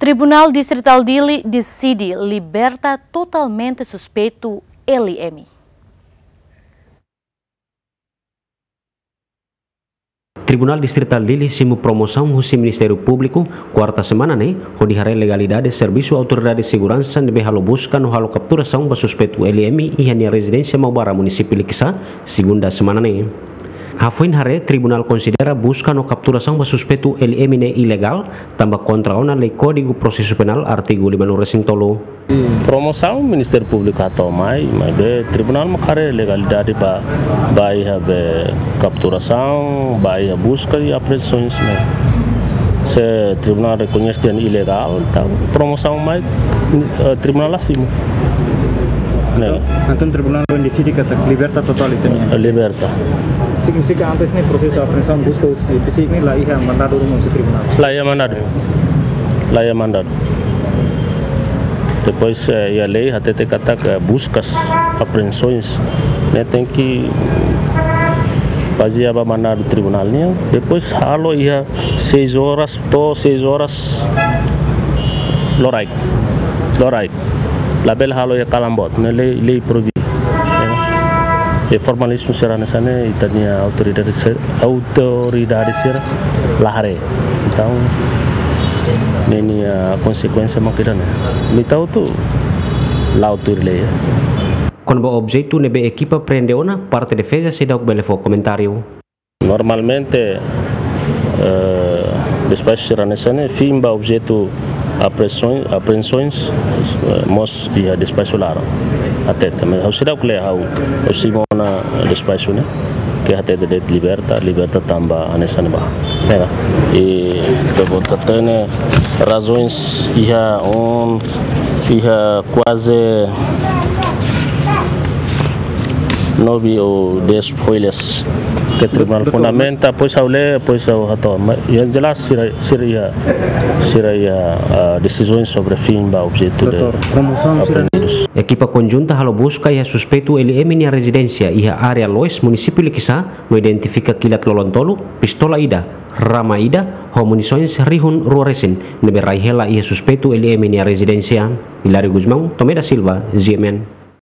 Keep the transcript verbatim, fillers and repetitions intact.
Tribunál Distritál Dili deside liberta totalmente suspeitu L M. Tribunál Distritál Dili simu promosaun husi Ministériu Públiku, kuarta semana ne'e, hodi haree legalidade servisu autoridade seguransa ne'ebé halo buska no halo kapturasaun ba suspeitu L M iha nia rezidénsia Maubara, munisípiu Likisá, segunda semana ne'e. Hafoin haree, tribunál konsidera buska no kapturasaun ba suspeitu L M ne'e ilegál, tanba kontra ona lei Kódigu Prosesu Penál, artigu lima-nulu resin tolu. Promosaun Ministériu Públiku hato'o mai, maibé tribunál mak haree legalidade ba, ba iha be kapturasaun, ba iha buska i apreensoens ne'e. Se tribunál rekoñese dehan ilegál, entaun promosaun mai, eh, tribunál la simu. Ne'e. Entaun tribunál ohin deside katak liberta totál ita-nia. Liberta. Signifika antes ne'e prosesu apreensaun, buska husi P C I ne'e la iha mandadu ruma husi tribunál? La iha mandadu. La iha mandadu. Depois, eh, iha lei hatete katak, eh, buskas, apreensoens ne'e tenke bazeia ba mandadu tribunál nian. Depois halo iha seis horas to'o seis horas loraik. Loraik. Labele halo iha kalan boot, ne'e lei, lei proibi. Eh, formalizmu sira hanesan ne'e ita-nia autoridade se-, autoridade sira la haree. Entaun, ne'e nia konsekuénsia mak ida-ne'e. Ita hotu la'o tuir lei. Kona-ba objetu ne'ebé ekipa prende ona, parte defeza seidauk bele fó komentáriu. Normalmente, eh, despaxu sira hanesan ne'e, fiin ba objetu apreensoens, apreensoens, eh, mós iha despaxu laran. Hatete, maibé ha'u seidauk lee, ha'u, ha'u simu ona despaxu ne'e, ke hatete de'it liberta, liberta tanba hanesan ne'ebá. Ya. I ita-boot hatene razoens iha um, iha kuaze nove ou dez folhas ke tribunál fundamenta, depois ha'u lee, depois ha'u hato'o. Mas, yang jelas sira, sira iha, sira iha, ah, desizaun sobre fiin ba objetu de Doutór, promosaun sira ne'e? Apreendidu. Ekipa konjunta halo buska iha suspeitu L M nia rezidénsia iha área Loes, munisípiu Likisá, no identifika kilat lolon tolu, pistola ida, rama ida, ho munisoens rihun rua resin, ne'ebé rai hela iha suspeitu L M nia rezidénsia. Hilário Gusmão, Tomé da Silva, G M N.